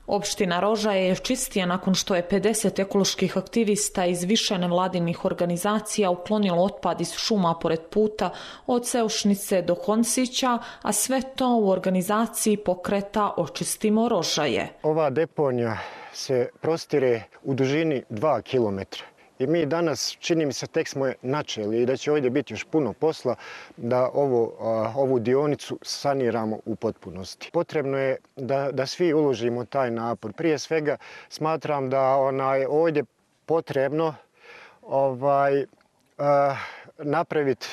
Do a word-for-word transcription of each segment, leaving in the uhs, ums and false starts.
Opština Rožaje je čistija nakon što je pedeset ekoloških aktivista iz više nevladinih organizacija uklonilo otpad iz šuma pored puta od Seušnice do Koncića, a sve to u organizaciji pokreta Očistimo Rožaje. Ova deponija se prostire u dužini dva kilometra. I mi danas, čini mi se, tek smo je načeli i da će ovdje biti još puno posla da ovo, ovu dionicu saniramo u potpunosti. Potrebno je da, da svi uložimo taj napor. Prije svega smatram da onaj, ovdje potrebno ovaj, uh, napraviti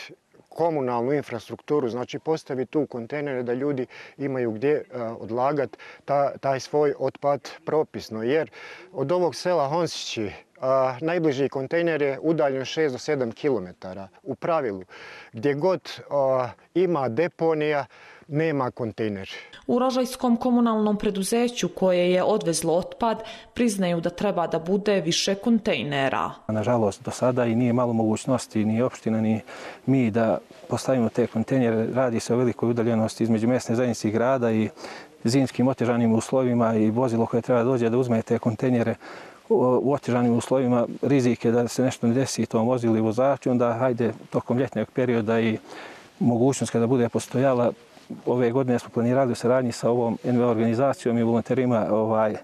komunalnu infrastrukturu, znači postaviti tu kontejnere da ljudi imaju gdje uh, odlagati ta, taj svoj otpad propisno. Jer od ovog sela Honsići uh, najbliži kontejner je udaljen šest do sedam kilometara. U pravilu, gdje god uh, ima deponija, nema kontejner. U Rožajskom komunalnom preduzeću koje je odvezlo otpad priznaju da treba da bude više kontejnera. Nažalost, do sada i nije malo mogućnosti ni opština ni mi da postavimo te kontejnere. Radi se o velikoj udaljenosti između mjesne zajednice i grada i zimskim otežanim uslovima i vozilo koje treba dođe da uzme te kontejnere u otežanim uslovima. Rizik je da se nešto ne desi tom vozilu i vozaču, onda hajde tokom ljetnog perioda i mogućnost kada bude postojala. Ove godine smo planirali u saradnji sa ovom N V O organizacijom i volonterima ovaj,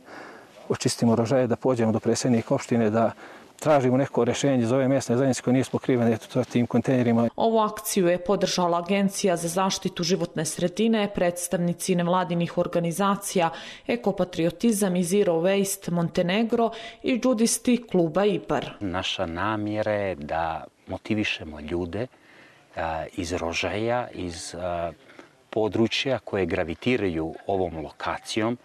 Očistimo Rožaje da pođemo do predsjednika opštine da tražimo neko rješenje za ove mjesne zajednice koje nisu pokrivene tim kontejnerima. Ovu akciju je podržala Agencija za zaštitu životne sredine, predstavnici nevladinih organizacija Ekopatriotizam i Zero Waste Montenegro i džudisti kluba IBAR. Naša namjera je da motivišemo ljude a, iz Rožaja, iz a, područja koje gravitiraju ovom lokacijom,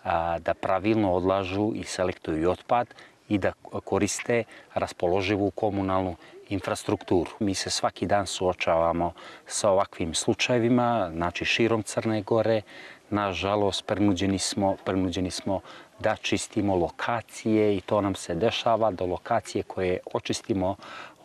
a, da pravilno odlažu i selektuju otpad i da koriste raspoloživu komunalnu infrastrukturu. Mi se svaki dan suočavamo sa ovakvim slučajevima, znači širom Crne Gore. Nažalost, prinuđeni smo, prinuđeni smo da čistimo lokacije i to nam se dešava do lokacije koje očistimo,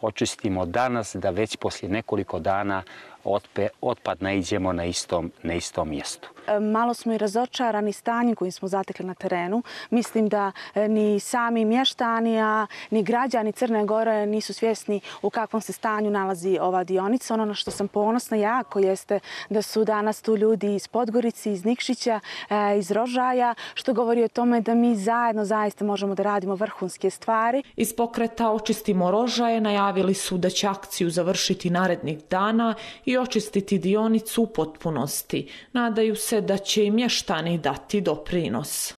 očistimo danas, da već poslije nekoliko dana otpe, otpad naiđemo na istom, na istom mjestu. Malo smo i razočarani stanjem kojim smo zatekli na terenu. Mislim da ni sami mještani, a ni građani Crne Gore nisu svjesni u kakvom se stanju nalazi ova dionica. Ono na što sam ponosna jako jeste da su danas tu ljudi iz Podgorice, iz Nikšića, iz Rožaja, što govori o tome da mi zajedno zaista možemo da radimo vrhunske stvari. Iz pokreta Očistimo Rožaje najavili su da će akciju završiti narednih dana i očistiti dionicu u potpunosti. Nadaju se da će i mještani dati doprinos.